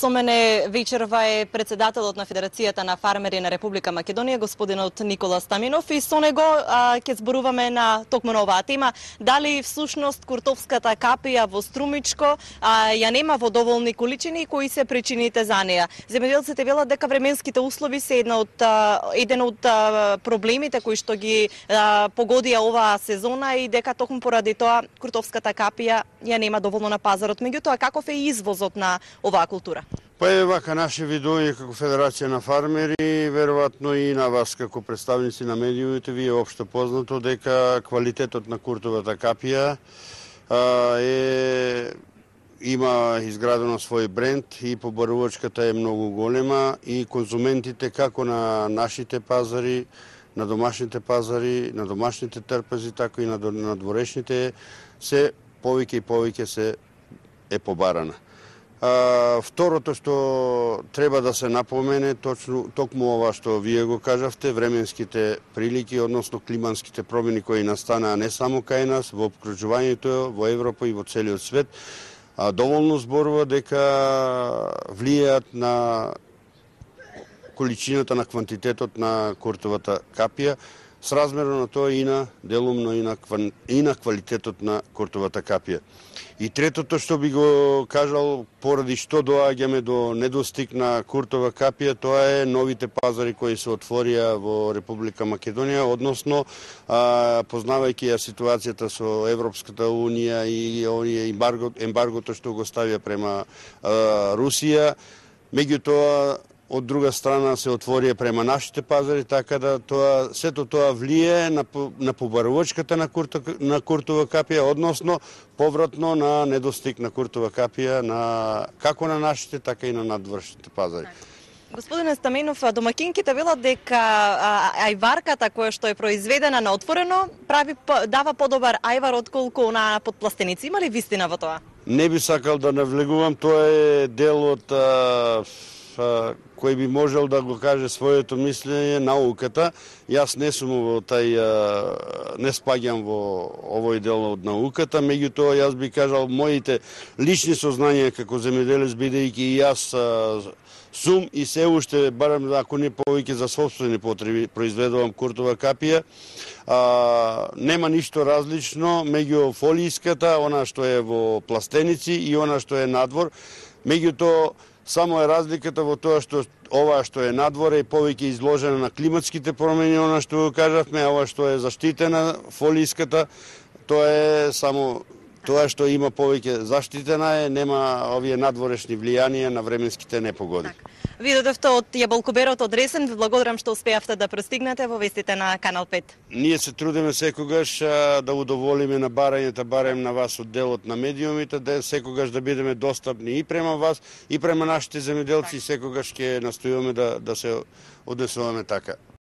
Со мене вечерва е председателот на Федерацијата на фармери на Република Македонија, господинот Никола Стаменов, и со него ќе зборуваме на токму на оваа тема. Дали всушност куртовската капија во Струмичко ја нема во доволни количини и кои се причините за неа? Земјоделците велат дека временските услови се еден од проблемите кои што ги погодија оваа сезона и дека токму поради тоа куртовската капија ја нема доволно на пазарот. Меѓутоа, каков е извозот на оваа култура? Па е вака, наше видување како Федерација на фармери, веројатно и на вас како представници на медиумите, ви е општо познато дека квалитетот на куртовата капија има изградено свој бренд и побарувачката е многу голема и конзументите како на нашите пазари, на домашните пазари, на домашните трпези, така и на дворешните, се повеќе и повеќе се е побарана. Второто што треба да се напомене, токму ова што вие го кажавте, временските прилики, односно климатските промени кои настанаа не само кај нас, во обкружувањето, во Европа и во целиот свет, доволно зборува дека влијаат на количината, на квантитетот на куртовата капија, сразмерно на тоа и на делумно и на квалитетот на куртовата капија. И третото што би го кажал, поради што доаѓаме до недостиг на куртова капија, тоа е новите пазари кои се отворија во Република Македонија, односно познавајќи ја ситуацијата со Европската унија и ембаргото што го ставија према Русија, меѓутоа од друга страна се отворија према нашите пазари, така да сето тоа влие на побарувачката на куртова капија, односно повратно на недостиг на куртова капија како на нашите, така и на надворешните пазари. Господине Стаменов, домакинките велат дека ајварката која што е произведена на отворено дава подобар ајвар отколку на подпластеници. Има ли вистина во тоа? Не би сакал да навлегувам, тоа е дел од кој би можел да го каже своето мислење, науката. Јас не сум не спаѓам во овој дел од науката, меѓутоа јас би кажал моите лични сознанија како земјоделец, бидејќи и јас сум и се уште, барем ако не повеќе за сопствени потреби, произведувам куртова капија. Нема ништо различно меѓу фолијската, она што е во пластеници и она што е надвор. Меѓутоа, само е разликата во тоа што ова што е надвор е повеќе изложена на климатските промени, она што го кажавме, а ова што е заштитена фолијската, тоа е само тоа што има повеќе заштитена нема овие надворешни влијанија на временските непогоди. Ви додевте од јаболкоберот од Ресен, ви благодарам што успеавте да пристигнете во вестите на Канал 5. Ние се трудиме секогаш да удоволиме на барањата, барем на вас од делот на медиумите, да секогаш да бидеме достапни и према вас, и према нашите земјоделци, секогаш ќе настојуваме да се однесуваме така.